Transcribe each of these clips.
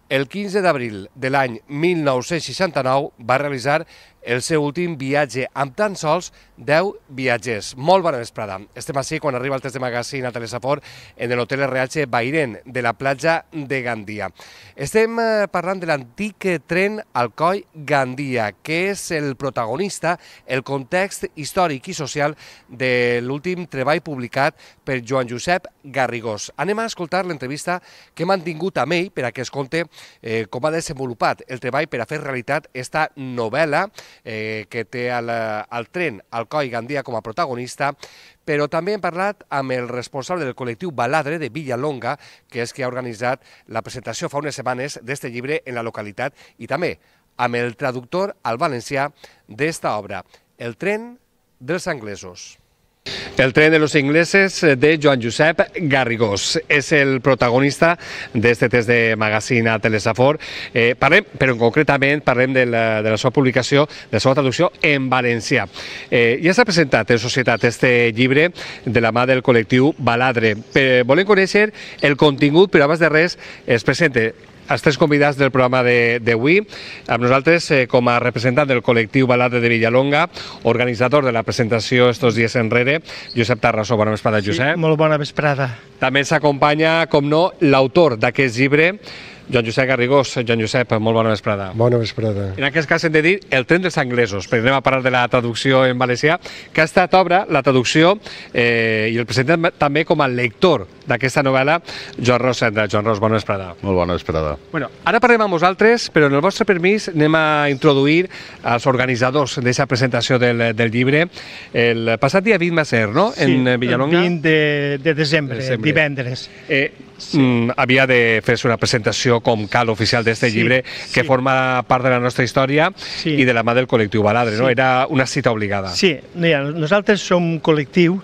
El 15 d'abril de l'any 1969 va realitzar el seu últim viatge amb tan sols 10 viatgers. Molt bona vesprada. Estem així quan arriba el test de magazine a Telesafor en l'hotel RH Bairen de la platja de Gandia. Estem parlant de l'antic tren Alcoi-Gandia, que és el protagonista, el context històric i social de l'últim treball publicat per Joan Josep Garrigós. Anem a escoltar l'entrevista que hem mantingut amb ell per a que es conte com ha desenvolupat el treball per a fer realitat esta novel·la que té el tren Alcoi-Gandia com a protagonista, però també hem parlat amb el responsable del col·lectiu Baladre de Villalonga, que és qui ha organitzat la presentació fa unes setmanes d'este llibre en la localitat, i també amb el traductor al valencià d'esta obra, El tren dels anglesos. El tren de los ingleses de Joan Josep Garrigós és el protagonista d'este test de magazine a Telesafor. Però concretament parlem de la seva publicació, de la seva traducció en valencià. Ja s'ha presentat en societat este llibre de la mà del col·lectiu Baladre. Volem conèixer el contingut, però abans de res es presenta els tres convidats del programa d'avui. Amb nosaltres, com a representant del col·lectiu Baladre de Villalonga, organitzador de la presentació estos dies enrere, Josep Tarrasó. Bona vesprada, Josep. Sí, molt bona vesprada. També s'acompanya, com no, l'autor d'aquest llibre, Joan Josep Garrigós. Joan Josep, molt bona vesprada. Bona vesprada. En aquest cas hem de dir El tren dels anglesos, perquè anem a parlar de la traducció en valencià, que ha estat obra, la traducció, i el presentem també com a lector d'aquesta novel·la, Joan Ros Cendra. Joan Ros, bona vesprada. Molt bona vesprada. Bueno, ara parlem amb vosaltres, però en el vostre permís anem a introduir els organitzadors d'aquesta presentació del llibre. El passat dia 20 va ser, no?, en Villalonga? Sí, el 20 de desembre, divendres. Havia de fer-se una presentació com cal oficial d'aquest llibre, que forma part de la nostra història i de la mà del col·lectiu Baladre, no? Era una cita obligada. Sí, nosaltres som un col·lectiu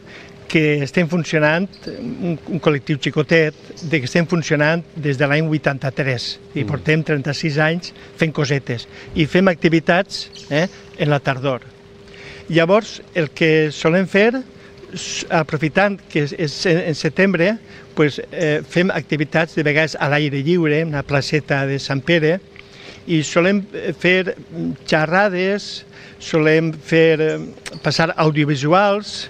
que estem funcionant, un col·lectiu xicotet, que estem funcionant des de l'any 83 i portem 36 anys fent cosetes i fem activitats en la tardor. Llavors, el que solem fer, aprofitant que és en setembre, fem activitats de vegades a l'aire lliure, en la placeta de Sant Pere, i solem fer xerrades, solem fer passar audiovisuals.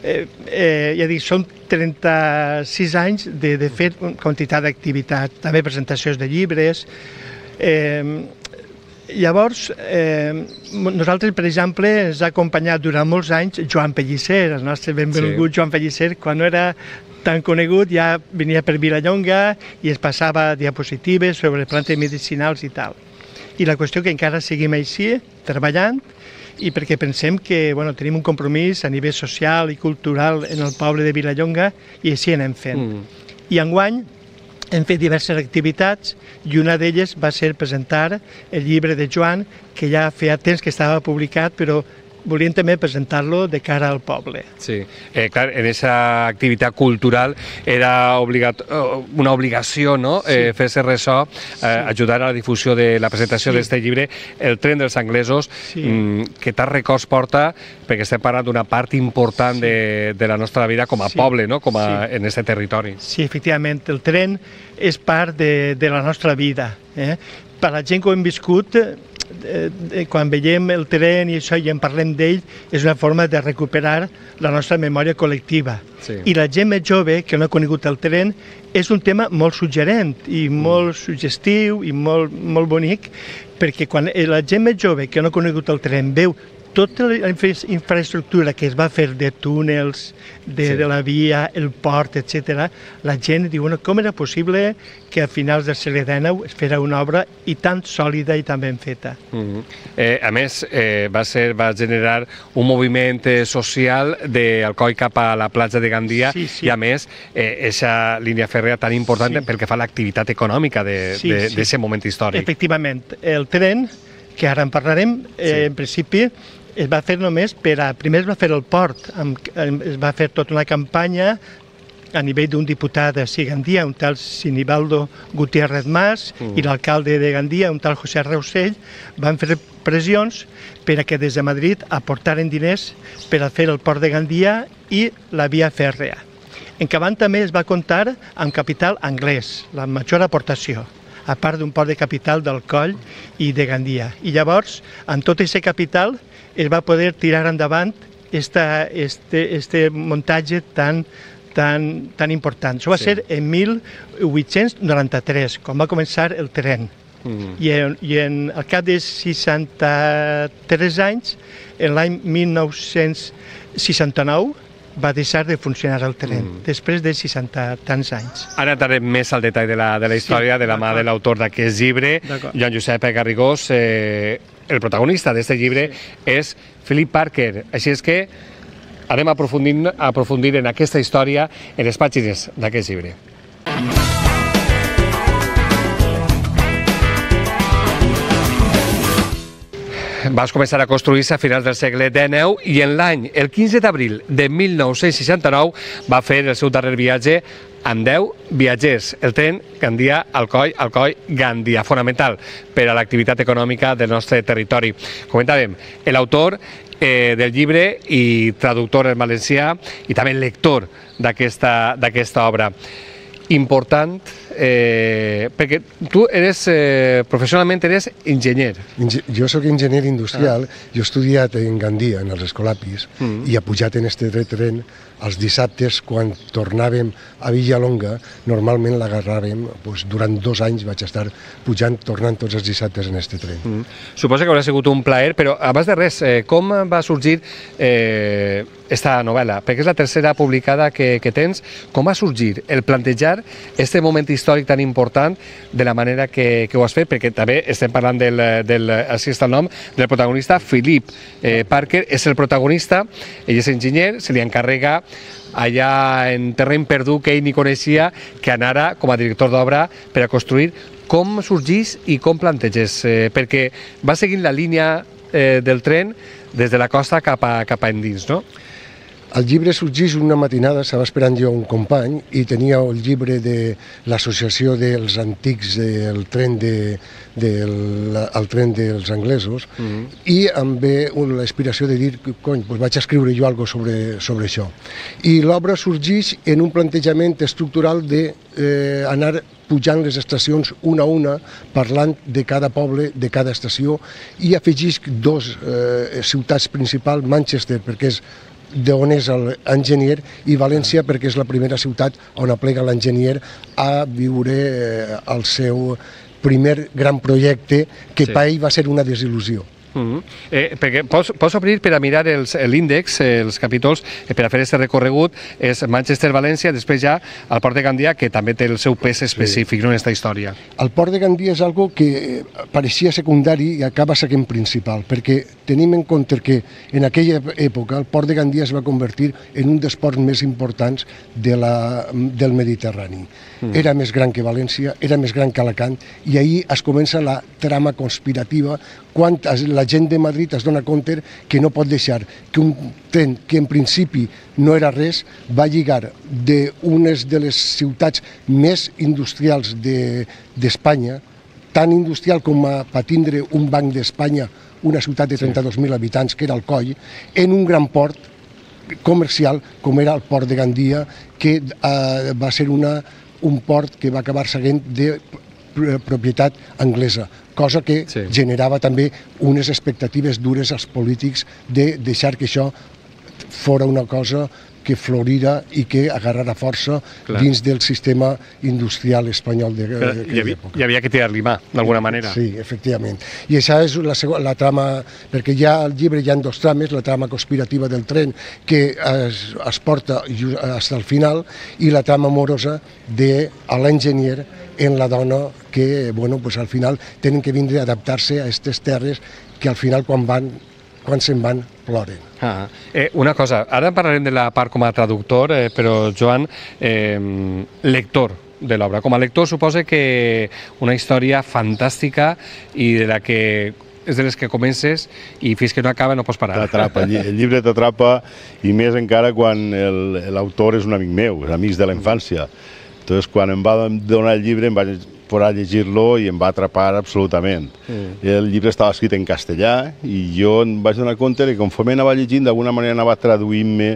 Ja dic, són 36 anys de fer quantitat d'activitats, també presentacions de llibres. Llavors, nosaltres, per exemple, ens ha acompanyat durant molts anys Joan Pellicer, el nostre benvingut Joan Pellicer. Quan no era tan conegut ja venia per Vilallonga i es passava diapositives sobre plantes medicinals i tal. I la qüestió que encara seguim així, treballant, i perquè pensem que tenim un compromís a nivell social i cultural en el poble de Vilallonga i així anem fent. I enguany hem fet diverses activitats i una d'elles va ser presentar el llibre de Joan, que ja feia temps que estava publicat, però volíem també presentar-lo de cara al poble. Sí, clar, en aquesta activitat cultural era una obligació, no?, fer-se ressò, ajudar a la difusió de la presentació d'aquest llibre, El tren dels anglesos, que tants records porta, perquè estem parlant d'una part important de la nostra vida com a poble, no?, com en aquest territori. Sí, efectivament, el tren és part de la nostra vida. Per la gent que ho hem viscut, quan veiem el tren i això i en parlem d'ell, és una forma de recuperar la nostra memòria col·lectiva. I la gent més jove que no ha conegut el tren és un tema molt suggerent i molt suggestiu i molt bonic, perquè quan la gent més jove que no ha conegut el tren veu tota la infraestructura que es va fer de túnels, de la via, el port, etc., la gent diu, com era possible que a finals del segle XIX es fera una obra i tan sòlida i tan ben feta? A més, va generar un moviment social d'Alcoi cap a la platja de Gandia i, a més, aquesta línia fèrrea tan important pel que fa a l'activitat econòmica d'aquest moment històric. Efectivament, el tren, que ara en parlarem, en principi, es va fer només primer es va fer el port, es va fer tota una campanya a nivell d'un diputat de Gandia, un tal Sinibaldo Gutiérrez Mas, i l'alcalde de Gandia, un tal José Reusell, van fer pressions per a que des de Madrid aportaren diners per a fer el port de Gandia i la via fèrrea. En Cabant també es va comptar amb capital anglès, la major aportació. a part d'un port de capital del Coll i de Gandia. I llavors, amb tot aquest capital, es va poder tirar endavant este muntatge tan important. Això va ser en 1893, quan va començar el tren. I al cap de 63 anys, en l'any 1969, va deixar de funcionar el tren, després de 60 tants anys. Ara entrarem més al detall de la història de la mà de l'autor d'aquest llibre, Joan Josep Garrigós. El protagonista d'aquest llibre és Philip Parker, així és que anem a aprofundir en aquesta història en les pàgines d'aquest llibre. Va començar a construir-se a finals del segle XIX i en l'any, el 15 d'abril de 1969, va fer el seu darrer viatge amb 10 viatgers. El tren Gandia-Alcoi-Gandia, fonamental per a l'activitat econòmica del nostre territori. Comentàvem, l'autor del llibre i traductor en valencià i també lector d'aquesta obra. Important, perquè tu professionalment eres enginyer. Jo soc enginyer industrial, jo he estudiat en Gandia, en els Escolapis, i he pujat en este tren els dissabtes, quan tornàvem a Villalonga, normalment l'agarràvem, durant 2 anys vaig estar pujant, tornant tots els dissabtes en este tren. Suposo que haurà sigut un plaer, però abans de res, com va sorgir esta novel·la? Perquè és la tercera publicada que tens. Com va sorgir el plantejar este moment històric tan important de la manera que ho has fet? Perquè també estem parlant així està el nom, del protagonista, Philip Parker, és el protagonista, ell és enginyer, se li encarrega allà en terreny perdut que ell ni coneixia, que anara com a director d'obra per a construir. Com sorgís i com planteges? Perquè va seguint la línia del tren des de la costa cap a endins, no? El llibre sorgeix una matinada, estava esperant jo un company i tenia el llibre de l'associació dels antics del tren dels anglesos i em ve l'aspiració de dir, cony, vaig escriure jo alguna cosa sobre això. I l'obra sorgeix en un plantejament estructural d'anar pujant les estacions una a una, parlant de cada poble, de cada estació, i afegeix 2 ciutats principals, Manchester, perquè és d'on és l'enginyer, i València, perquè és la primera ciutat on aplega l'enginyer a viure el seu primer gran projecte, que per ell va ser una desil·lusió. Perquè pots obrir per a mirar l'índex, els capítols, per a fer aquest recorregut, és Manchester-València, després ja el Port de Gandia, que també té el seu pes específic en aquesta història. El Port de Gandia és algo que pareixia secundari i acaba sent principal, perquè tenim en compte que en aquella època el Port de Gandia es va convertir en un dels ports més importants del Mediterrani. Era més gran que València, era més gran que Alacant, i ahir es comença la trama conspirativa quan la gent de Madrid es dona compte que no pot deixar que un tren que en principi no era res va lligar d'unes de les ciutats més industrials d'Espanya, tan industrial com per tindre un banc d'Espanya, una ciutat de 32.000 habitants, que era el Coll, en un gran port comercial com era el Port de Gandia, que va ser un port que va acabar seguint de propietat anglesa, cosa que generava també unes expectatives dures als polítics de deixar que això fora una cosa que florira i que agarrara força dins del sistema industrial espanyol d'aquella època. Hi havia que tirar-li mà, d'alguna manera. Sí, efectivament. I això és la trama, perquè ja al llibre hi ha 2 trames, la trama conspirativa del tren, que es porta fins al final, i la trama amorosa de l'enginyer en la dona que, al final tenen que vindre a adaptar-se a aquestes terres que al final quan se'n van ploren. Una cosa, ara parlarem de la part com a traductor, però Joan, lector de l'obra. Com a lector suposa que una història fantàstica i de la que és de les que comences i fins que no acaba no pots parar. T'atrapa, el llibre t'atrapa, i més encara quan l'autor és un amic meu, és amics de la infància. Entonces, quan em va donar el llibre, em vaig posar a llegir-lo i em va atrapar absolutament. El llibre estava escrit en castellà i jo em vaig donar compte que conforme anava llegint, d'alguna manera anava traduint-me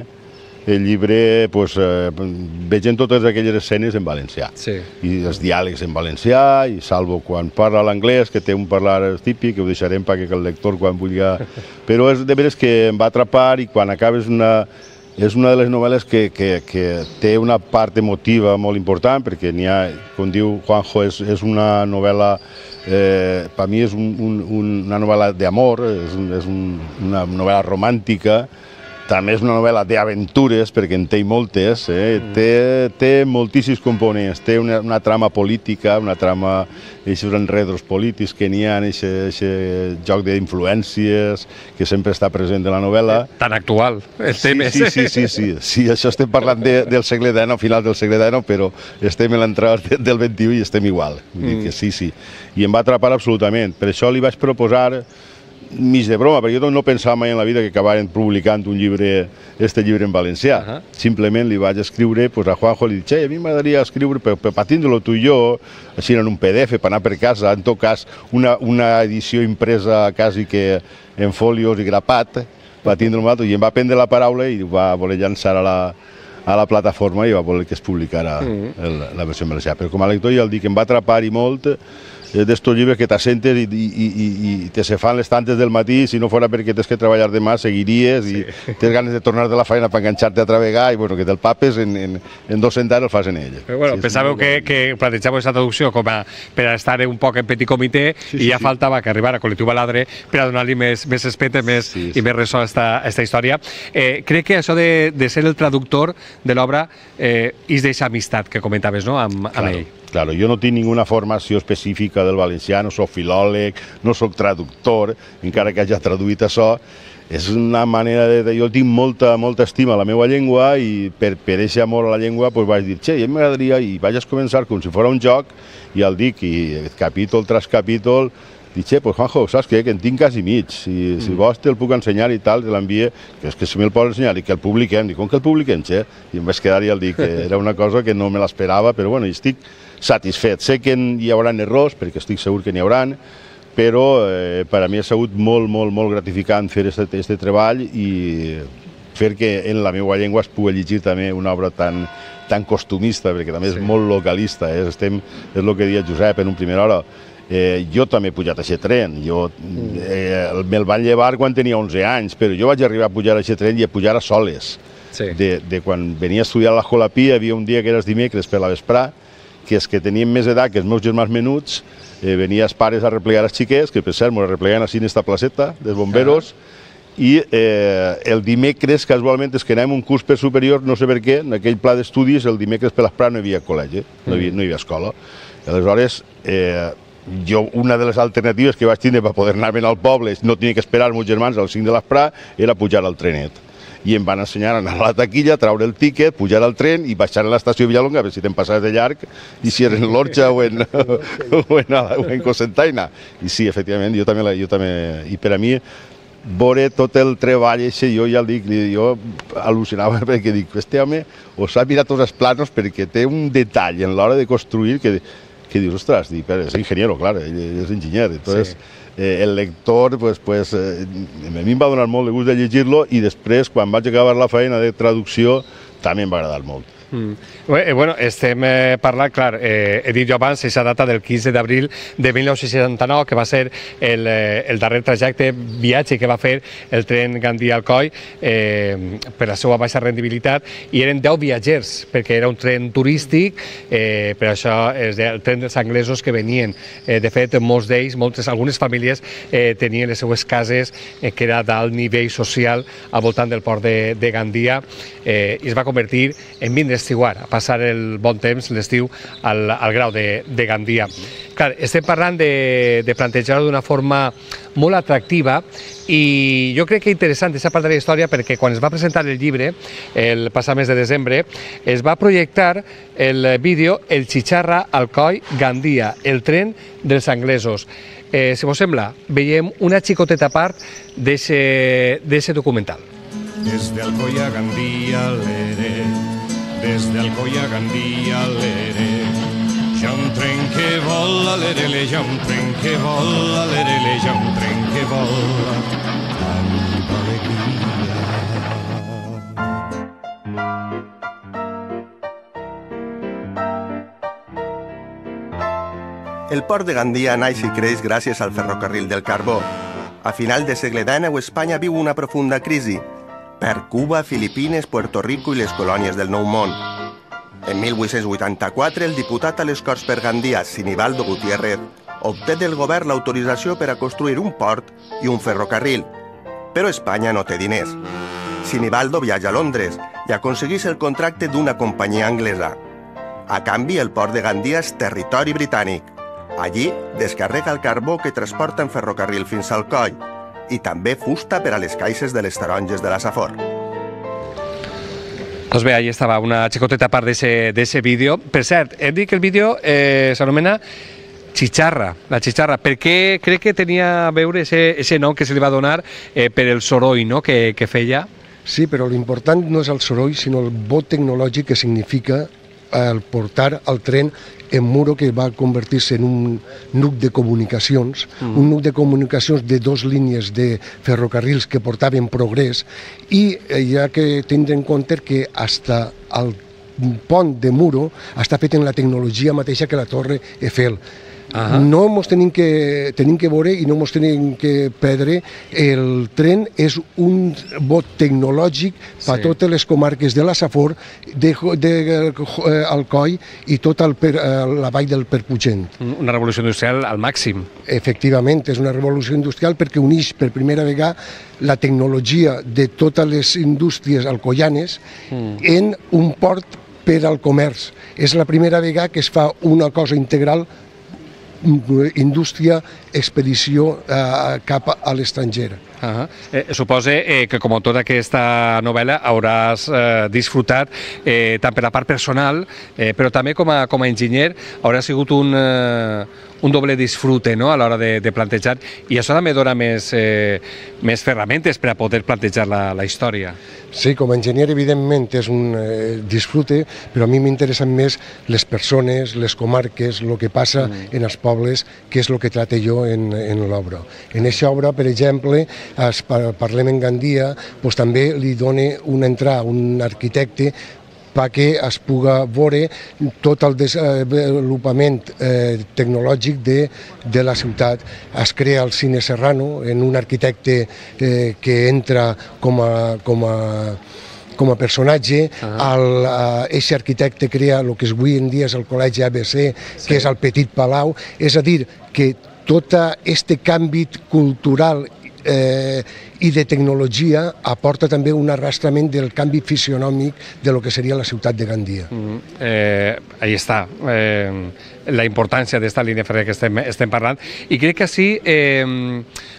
el llibre vegem totes aquelles escenes en valencià. I els diàlegs en valencià, i salvo quan parla l'anglès, que té un parlar típic, que ho deixarem perquè el lector quan vulgui... Però és de veres que em va atrapar, i quan acabes és una de les novel·les que té una part emotiva molt important, perquè n'hi ha, com diu Juanjo, és una novel·la, per mi és una novel·la d'amor, és una novel·la romàntica, també és una novel·la d'aventures, perquè en té moltes, té moltíssims components, té una trama política, una trama d'aquests enredos polítics que n'hi ha, aquest joc d'influències que sempre està present en la novel·la. Tan actual, el tema. Sí, això estem parlant del segle XIX, final del segle XIX, però estem en l'entrada del XXI i estem igual. Sí. I em va atrapar absolutament. Per això li vaig proposar, mig de broma, perquè jo no pensava mai en la vida que acabaren publicant este llibre en valencià. Simplement li vaig escriure a Juanjo, li dic, a mi m'agradaria escriure per tindre-lo tu i jo, així en un PDF, per anar per casa, en tot cas una edició impresa quasi que en folios i grapat, per tindre-lo i em va prendre la paraula i va voler llançar a la plataforma i va voler que es publicara la versió en valencià. Però com a lector ja el dic, em va atrapar i molt, d'estos llibres que t'assentes i te se fan les tantes del matí, si no fora perquè tens que treballar demà, seguiries i tens ganes de tornar de la feina per enganxar-te a travegar i que te'l papes en 2 centars el fas en ell. Pensàveu que plantejàveu aquesta traducció com per estar un poc en petit comitè i ja faltava que arribara Col·lectiu Baladre per a donar-li més espeta i més ressò a aquesta història. Crec que això de ser el traductor de l'obra és d'aquesta amistat que comentaves amb ell. Claro, jo no tinc ninguna formació específica del valencià, no soc filòleg, no soc traductor, encara que hagi traduït això. És una manera de... Jo tinc molta estima a la meva llengua i per aquest amor a la llengua vaig dir, a mi m'agradaria, i vaig començar com si fos un joc, i el dic, i capítol tras capítol, dic, Juanjo, saps què? Que en tinc quasi mig, si vols te'l puc ensenyar i tal, te l'envie, que és que si me'l pots ensenyar i que el publiquem, dic, com que el publiquem, I em vaig quedar i el dic, era una cosa que no me l'esperava, però bueno, estic satisfet. Sé que hi haurà errors, perquè estic segur que n'hi haurà, però per a mi ha sigut molt gratificant fer aquest treball i fer que en la meva llengua es pugui llegir també una obra tan costumista, perquè també és molt localista. És el que deia Josep en una primera hora. Jo també he pujat a aquest tren. Me'l van llevar quan tenia 11 anys, però jo vaig arribar a pujar a aquest tren i a pujar a soles. De quan venia a estudiar a l'Escola Pi, hi havia un dia que era els dimecres per la vesprà, que és que teníem més edat que els meus germans menuts, venia els pares a replegar els xiquets, que per cert m'ho repleguen així en esta placeta dels bomberos, i el dimecres, casualment, és que anàvem un curs per superior, no sé per què, en aquell pla d'estudis, el dimecres per l'esprà no hi havia col·legi, no hi havia escola. Aleshores, una de les alternatives que vaig tindre per poder anar-me'n al poble, no tenia que esperar els meus germans al 5 de l'esprà, era pujar al trenet. I em van ensenyar a anar a la taquilla, treure el tíquet, pujar al tren i baixar a l'estació Villalonga, a veure si te'n passaves de llarg, i si era en l'Orxa o en Cocentaina. I sí, efectivament, jo també, i per a mi, veure tot el treball, jo ja el dic, jo al·lucinava perquè dic, este home us ha mirat tots els planos perquè té un detall en l'hora de construir que dius, ostres, és ingeniero, clar, ell és enginyer, entonces... El lector, a mi em va donar molt de gust de llegir-lo i després, quan vaig acabar la feina de traducció, també em va agradar molt. Bueno, estem parlant, clar, he dit jo abans, aquesta data del 15 d'abril de 1969, que va ser el darrer trajecte, viatge que va fer el tren Gandia-Alcoi per la seva baixa rendibilitat, i eren 10 viatgers, perquè era un tren turístic, per això és el tren dels anglesos que venien. De fet, molts d'ells, algunes famílies tenien les seues cases, que era d'alt nivell social, al voltant del port de Gandia, i es va convertir en vindre estiguar, a passar el bon temps, l'estiu, al grau de Gandia. Clar, estem parlant de plantejar-ho d'una forma molt atractiva i jo crec que interessant aquesta part de la història perquè quan es va presentar el llibre, el passat mes de desembre, es va projectar el vídeo El Chicharra Alcoi Gandia, el tren dels anglesos. Si vos sembla, veiem una xicoteta part d'aquest documental. Desde Alcoi a Gandia, desde Alcoi a Gandia, hi ha un tren que vola, hi ha un tren que vola, hi ha un tren que vola, tanta alegria. El port de Gandia naix i creix gràcies al ferrocarril del carbó. A final de segle XIX, Espanya viu una profunda crisi. Per Cuba, Filipines, Puerto Rico i les colònies del Nou Món. En 1884, el diputat a les Corts per Gandia, Sinibaldo Gutiérrez, obté del govern l'autorització per a construir un port i un ferrocarril. Però Espanya no té diners. Sinibaldo viatja a Londres i aconsegueix el contracte d'una companyia anglesa. A canvi, el port de Gandia és territori britànic. Allí descarrega el carbó que transporta en ferrocarril fins al coll i també fusta per a les caixes de les taronges de la Safor. Doncs bé, ahí estava una xicoteta part d'ese vídeo. Per cert, hem dit que el vídeo s'anomena Chicharra, la Chicharra. Per què crec que tenia a veure ese nom que se li va donar per el soroll, no?, que feia? Sí, però l'important no és el soroll, sinó el bot tecnològic que significa el portar el tren en Muro, que va convertir-se en un nuc de comunicacions, un nuc de comunicacions de 2 línies de ferrocarrils que portaven progrés, i hi ha que tindre en compte que fins al pont de Muro està fet en la tecnologia mateixa que la Torre Eiffel. No ens tenim que veure i no ens tenim que perdre. El tren és un bot tecnològic per totes les comarques de la Safor, Alcoi i tota la vall del Perpugent. Una revolució industrial al màxim. Efectivament, és una revolució industrial perquè uneix per primera vegada la tecnologia de totes les indústries alcoianes en un port per al comerç. És la primera vegada que es fa una cosa integral, indústria, expedició cap a l'estranger. Suposo que, com a autor d'aquesta novel·la, hauràs disfrutat tant per la part personal, però també com a enginyer haurà sigut un doble disfrute, no?, a l'hora de plantejar, i això també dona més ferramentes per a poder plantejar la història. Sí, com a enginyer evidentment és un disfrute, però a mi m'interessen més les persones, les comarques, el que passa en els pobles, que és el que trate jo en l'obra. En aquesta obra, per exemple, parlem en Gandia, també li dona una entrada a un arquitecte perquè es pugui veure tot el desenvolupament tecnològic de la ciutat. Es crea el Cine Serrano en un arquitecte que entra com a personatge. Aquest arquitecte crea el que avui en dia és el Col·legi ABC, que és el Petit Palau. És a dir, que tot aquest canvi cultural i de tecnologia aporta també un arrastrament del canvi fisionòmic de lo que seria la ciutat de Gandia. Ahí està la importància d'esta línia fèrria que estem parlant, i crec que així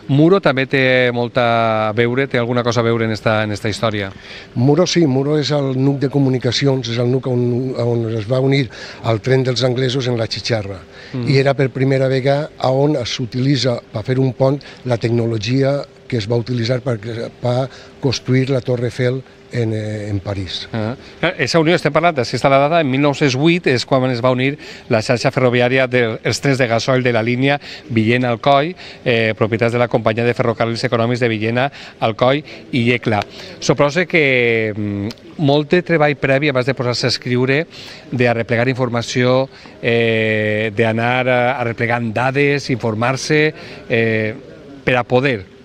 Muro també té molta a veure, té alguna cosa a veure en esta història. Muro sí, Muro és el nuc de comunicacions, és el nuc on es va unir el tren dels anglesos en la Chicharra, i era per primera vegada on s'utilitza per fer un pont la tecnologia que es va utilitzar per construir la Torre Eiffel en París. Aquesta unió, estem parlant, així està la data, en 1908 és quan es va unir la xarxa ferroviària dels trens de gasoil de la línia Villena-Alcoi, propietats de la companyia de ferrocarrils econòmics de Villena, Alcoi i Iecla. Suposo que molt de treball previ abans de posar-se a escriure, d'arreplegar informació, d'anar arreplegant dades, informar-se, per a poder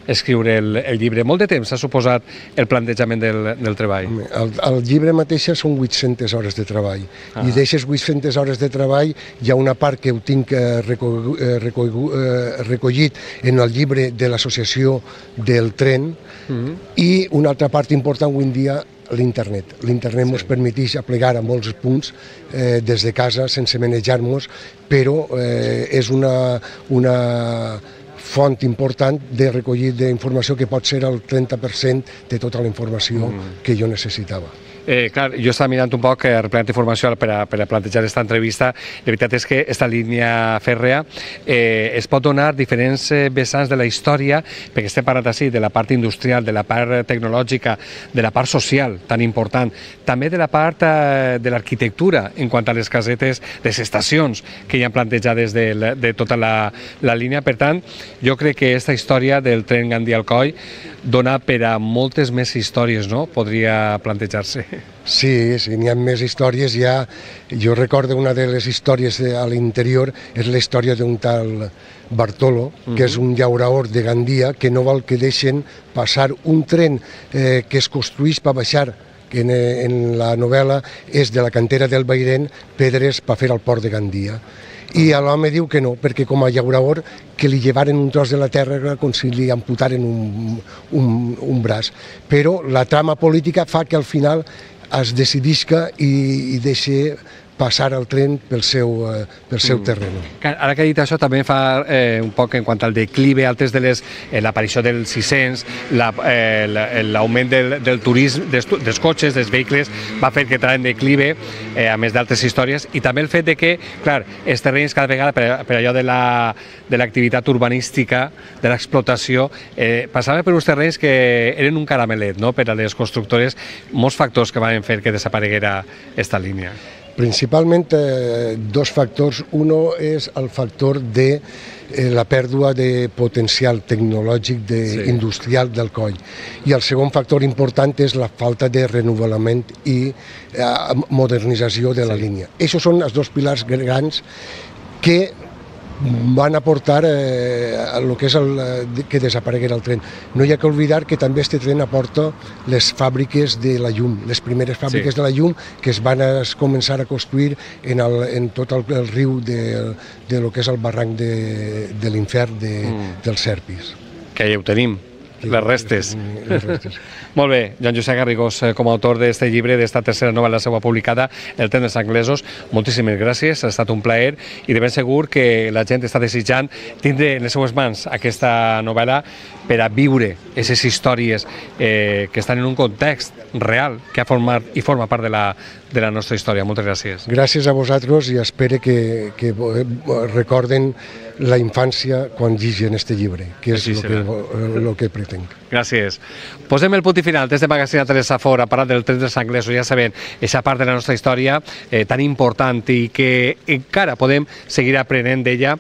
escriure el llibre. Molt de temps ha suposat el plantejament del treball? El llibre mateix són 800 hores de treball, i d'aquestes 800 hores de treball hi ha una part que ho tinc recollit en el llibre de l'associació del tren, i una altra part important avui en dia, l'internet. L'internet ens permeteix aplegar a molts punts des de casa sense manejar-nos, però és una font important de recollir d'informació que pot ser el 30% de tota la informació que jo necessitava. Clar, jo estava mirant un poc, replegant informació per a plantejar aquesta entrevista. La veritat és que aquesta línia fèrrea es pot donar diferents vessants de la història, perquè estem parlant així de la part industrial, de la part tecnològica, de la part social tan important, també de la part de l'arquitectura en quant a les casetes, les estacions que hi ha plantejades de tota la línia. Per tant, jo crec que aquesta història del tren Gandia-Alcoi dona per a moltes més històries, no?, podria plantejar-se. Sí, n'hi ha més històries. Jo recordo una de les històries a l'interior, és la història d'un tal Bartolo, que és un llauraor de Gandia, que no vol que deixen passar un tren que es construís per baixar, que en la novel·la és de la cantera del Bairén, pedres per fer al port de Gandia. I l'home diu que no, perquè com a llaurador que li llevaren un tros de la terra com si li amputaren un braç. Però la trama política fa que al final es decidisca i deixa passar el tren pel seu terreny. Ara que ha dit això, també fa un poc en quant al declive, altres de l'aparició dels 600, l'augment del turisme, dels cotxes, dels vehicles, va fer que entrara en declive, a més d'altres històries, i també el fet de que, clar, els terrenys cada vegada, per allò de l'activitat urbanística, de l'explotació, passava per uns terrenys que eren un caramelet, no?, per a les constructores, molts factors que van fer que desapareguera aquesta línia. Principalment dos factors. Uno és el factor de la pèrdua de potencial tecnològic industrial del coll. I el segon factor important és la falta de renovament i modernització de la línia. Aquests són els dos pilars grans que van aportar el que és que desapareguera el tren. No hi ha que oblidar que també aquest tren aporta les fàbriques de la llum, les primeres fàbriques de la llum que es van començar a construir en tot el riu de lo que és el barranc de l'Infern dels Serpis. Que ja ho tenim, les restes. Molt bé, Joan Josep Garrigós, com a autor d'aquest llibre, d'esta tercera novel·la seva publicada, El tren dels anglesos, moltíssimes gràcies, ha estat un plaer i de ben segur que la gent està desitjant tindre en les seues mans aquesta novel·la per a viure aquestes històries que estan en un context real que ha format i forma part de la nostra història. Moltes gràcies. Gràcies a vosaltres i espero que recorden la infància quan llegeixen aquest llibre, que és el que pretenc. Gràcies. Posem el punt i final des de Magazine Teresa Fort a parlar del tren dels anglesos, ja sabent, aquesta part de la nostra història tan important i que encara podem seguir aprenent d'ella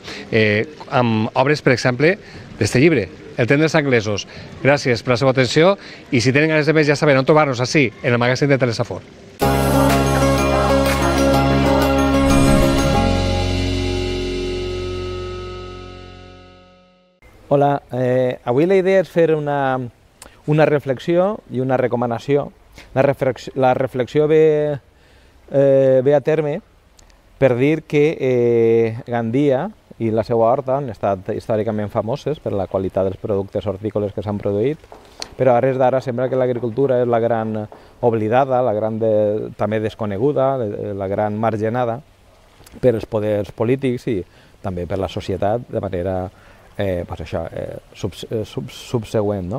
amb obres, per exemple, d'aquest llibre, El tren dels anglesos. Gràcies per la seva atenció i si tenen ganes de més ja saben on trobar-nos així, en el Magazine de Teresa Fort. Hola, avui la idea és fer una reflexió i una recomanació. La reflexió ve a terme per dir que Gandia i la seva horta han estat històricament famoses per la qualitat dels productes hortícoles que s'han produït, però a res d'ara sembla que l'agricultura és la gran oblidada, la gran també desconeguda, la gran margenada per als poders polítics i també per la societat de manera subsegüent.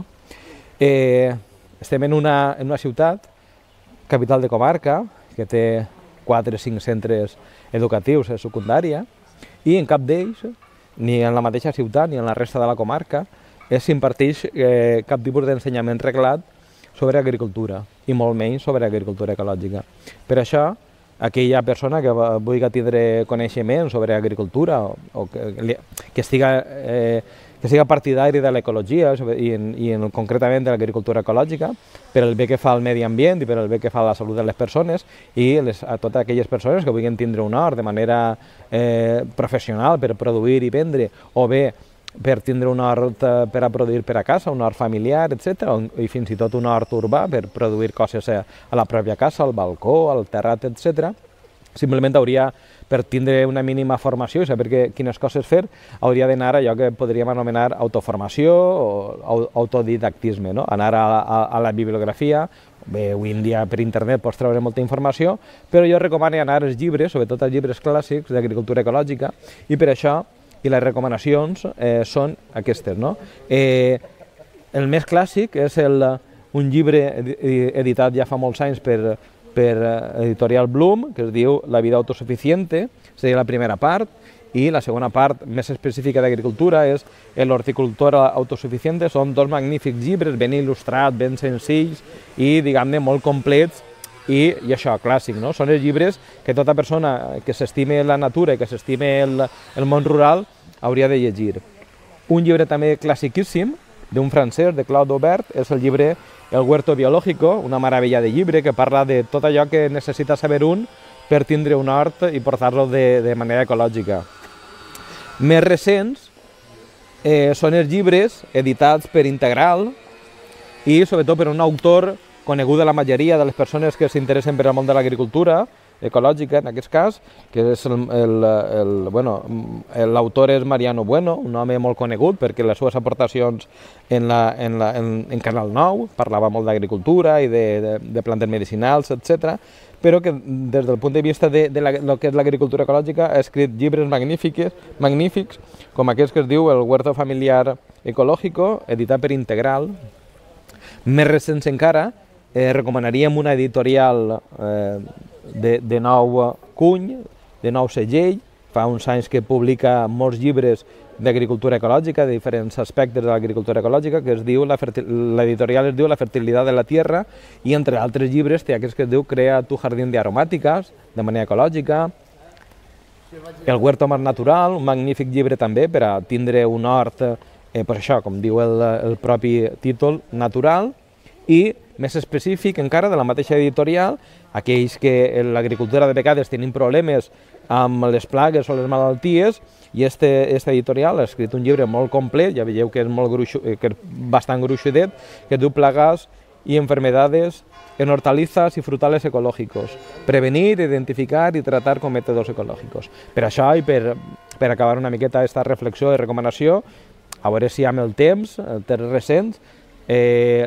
Estem en una ciutat, capital de comarca, que té 4 o 5 centres educatius de secundària, i en cap d'ells, ni en la mateixa ciutat ni en la resta de la comarca, s'imparteix cap tipus d'ensenyament reglat sobre agricultura, i molt menys sobre agricultura ecològica. Per això, aquella persona que vulgui tindre coneixement sobre agricultura o que siga partidari de l'ecologia i concretament de l'agricultura ecològica, per el bé que fa al medi ambient i per el bé que fa a la salut de les persones i a totes aquelles persones que vulguin tindre un hort de manera professional per produir i vendre, o bé per tindre un hort per a produir per a casa, un hort familiar, etc., i fins i tot un hort urbà per produir coses a la pròpia casa, al balcó, al terrat, etc. Simplement hauria, per tindre una mínima formació i saber quines coses fer, hauria d'anar a allò que podríem anomenar autoformació o autodidactisme, no? Anar a la bibliografia. Bé, avui en dia per internet pots treure molta informació, però jo recomano anar als llibres, sobretot als llibres clàssics d'agricultura ecològica, i per això les recomanacions són aquestes. El més clàssic és un llibre editat ja fa molts anys per Editorial Bloom, que es diu La vida autosuficiente, seria la primera part, i la segona part, més específica d'agricultura, és El horticultor autosuficiente. Són 2 magnífics llibres, ben il·lustrats, ben senzills i, diguem-ne, molt complets i això, clàssic, no? Són els llibres que tota persona que s'estime la natura i que s'estime el món rural hauria de llegir. Un llibre també classiquíssim d'un francès, de Claude Aubert, és el llibre El huerto biológico, una meravella de llibre que parla de tot allò que necessita saber un per tindre un hort i portar-lo de manera ecològica. Més recents són els llibres editats per Integral i sobretot per un autor conegut de la majoria de les persones que s'interessen per al món de l'agricultura ecològica, en aquest cas, que és l'autor és Mariano Bueno, un home molt conegut perquè les seves aportacions en Canal 9 parlava molt d'agricultura i de plantes medicinals, etc. Però que des del punt de vista de lo que és l'agricultura ecològica ha escrit llibres magnífics, com aquest que es diu El huerto familiar ecológico, editat per Integral. Més recents encara, recomanaríem una editorial de nou cuny, de nou segell, fa uns anys que publica molts llibres d'agricultura ecològica, de diferents aspectes de l'agricultura ecològica, que es diu, l'editorial es diu La fertilitat de la tierra, i entre altres llibres té aquest que es diu Crea tu jardín de aromàtiques, de manera ecològica, El huerto más natural, un magnífic llibre també per a tindre un hort, per això, com diu el propi títol, natural, i més específic encara de la mateixa editorial, aquells que en l'agricultura de vegades tenim problemes amb les plagues o les malalties, i aquesta editorial ha escrit un llibre molt complet, ja veieu que és bastant gruixudet, que es diu Plagas y enfermedades en hortalizas y frutales ecológicos. Prevenir, identificar i tratar con métodos ecológicos. Per això i per acabar una miqueta aquesta reflexió i recomanació, a veure si amb el temps recents, els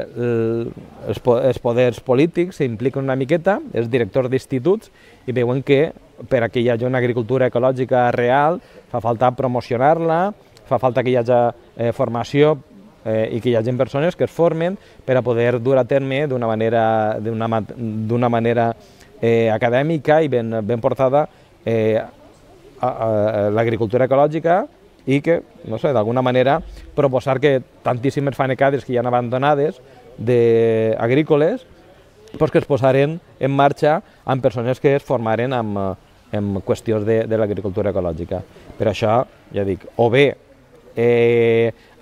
poders polítics s'impliquen una miqueta, els directors d'instituts, i veuen que per a que hi hagi una agricultura ecològica real fa falta promocionar-la, fa falta que hi hagi formació i que hi hagi persones que es formen per a poder dur a terme d'una manera acadèmica i ben portada l'agricultura ecològica, i que, no sé, d'alguna manera proposar que tantíssimes fanecades que hi ha abandonades agrícoles que es posaren en marxa amb persones que es formaren en qüestions de l'agricultura ecològica. Per això, ja dic, o bé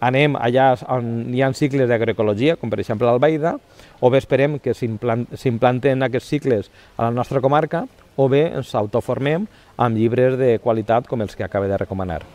anem allà on hi ha cicles d'agroecologia, com per exemple l'Albaida, o bé esperem que s'implanten aquests cicles a la nostra comarca, o bé ens autoformem amb llibres de qualitat com els que acaba de recomanar.